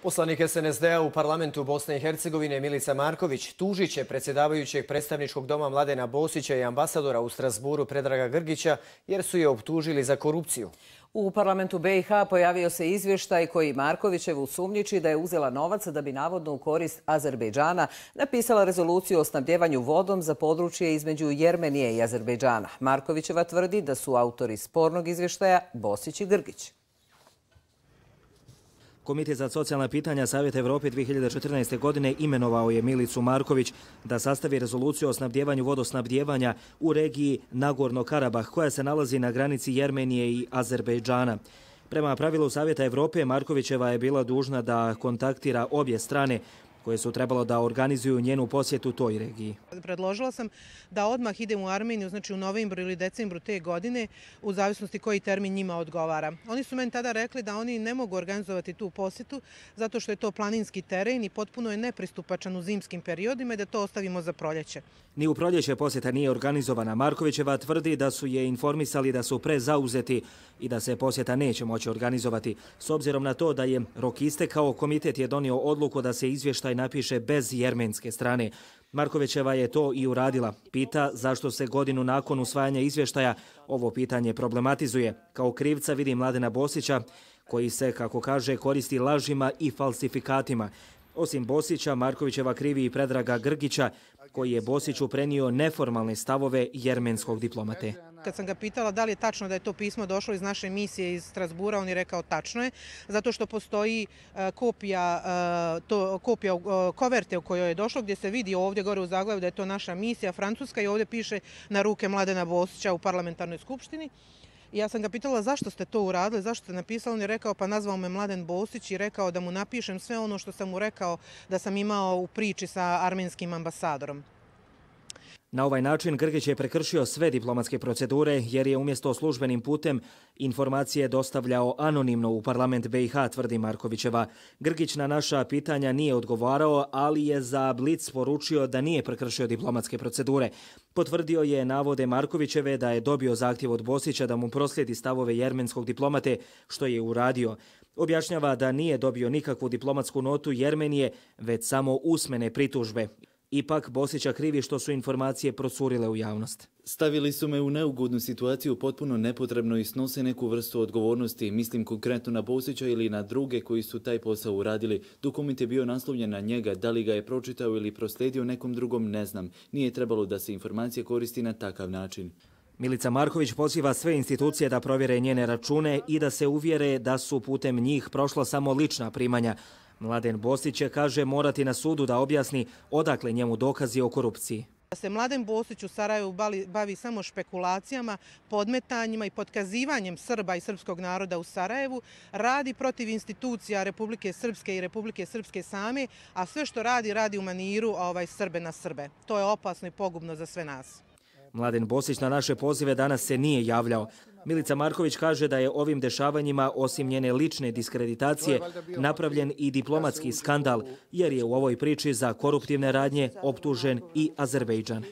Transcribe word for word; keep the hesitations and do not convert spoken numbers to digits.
Poslanik S N S D-a u parlamentu Bosne i Hercegovine Milica Marković tužit će predsjedavajućeg predstavničkog doma Mladena Bosića i ambasadora u Strasburu Predraga Grgića jer su je optužili za korupciju. U parlamentu B i H pojavio se izvještaj koji Markovićevu sumnjiči da je uzela novac da bi navodno u korist Azerbejdžana napisala rezoluciju o snabdjevanju vodom za područje između Jermenije i Azerbejdžana. Markovićeva tvrdi da su autori spornog izvještaja Bosić i Grgić. Komitet za socijalna pitanja Savjeta Evrope dvije hiljade četrnaeste. godine imenovao je Milicu Marković da sastavi rezoluciju o snabdjevanju vodosnabdjevanja u regiji Nagorno-Karabah koja se nalazi na granici Jermenije i Azerbejdžana. Prema pravilu Savjeta Evrope, Markovićeva je bila dužna da kontaktira obje strane koje su trebalo da organizuju njenu posjetu toj regiji. Predložila sam da odmah idem u Armeniju, znači u novembru ili decembru te godine, u zavisnosti koji termin njima odgovara. Oni su meni tada rekli da oni ne mogu organizovati tu posjetu zato što je to planinski teren i potpuno je nepristupačan u zimskim periodima i da to ostavimo za proljeće. Ni u proljeće posjeta nije organizovana. Markovićeva tvrdi da su je informisali da su prezauzeti i da se posjeta neće moći organizovati. S obzirom na to da je rok istekao, komitet je donio odluku da se izvještaj napiše bez jermenske strane. Markovićeva je to i uradila. Pita zašto se godinu nakon usvajanja izvještaja ovo pitanje problematizuje. Kao krivca vidi Mladena Bosića, koji se, kako kaže, koristi lažima i falsifikatima. Osim Bosića, Markovićeva krivi i Predraga Grgića, koji je Bosiću prenio neformalne stavove jermenskog diplomate. Kad sam ga pitala da li je tačno da je to pismo došlo iz naše misije iz Strasbura, on je rekao tačno je, zato što postoji kopija, to, kopija koverte u kojoj je došlo, gdje se vidi ovdje gore u zaglavlju da je to naša misija Francuska i ovdje piše na ruke Mladena Bosića u parlamentarnoj skupštini. I ja sam ga pitala zašto ste to uradili, zašto ste napisali, on je rekao pa nazvao me Mladen Bosić i rekao da mu napišem sve ono što sam mu rekao da sam imao u priči sa armenskim ambasadorom. Na ovaj način Grgić je prekršio sve diplomatske procedure jer je umjesto službenim putem informacije dostavljao anonimno u parlament B i H, tvrdi Markovićeva. Grgić na naša pitanja nije odgovarao, ali je za Blic poručio da nije prekršio diplomatske procedure. Potvrdio je navode Markovićeve da je dobio zahtjev od Bosića da mu proslijedi stavove jermenskog diplomate, što je uradio. Objašnjava da nije dobio nikakvu diplomatsku notu Jermenije, već samo usmene pritužbe. Ipak Bosića krivi što su informacije procurile u javnost. Stavili su me u neugodnu situaciju potpuno nepotrebno i snose neku vrstu odgovornosti. Mislim konkretno na Bosića ili na druge koji su taj posao uradili. Dokument je bio naslovljen na njega. Da li ga je pročitao ili proslijedio nekom drugom, ne znam. Nije trebalo da se informacija koristi na takav način. Milica Marković poziva sve institucije da provjere njene račune i da se uvjere da su putem njih prošla samo lična primanja. Mladen Bosić će, kaže, morati na sudu da objasni odakle njemu dokazi o korupciji. Da se Mladen Bosić u Sarajevu bavi samo špekulacijama, podmetanjima i potkazivanjem Srba i srpskog naroda u Sarajevu, radi protiv institucija Republike Srpske i Republike Srpske same, a sve što radi, radi u maniru ovaj, Srbe na Srbe. To je opasno i pogubno za sve nas. Mladen Bosić na naše pozive danas se nije javljao. Milica Marković kaže da je ovim dešavanjima, osim njene lične diskreditacije, napravljen i diplomatski skandal, jer je u ovoj priči za koruptivne radnje optužen i Azerbejdžan.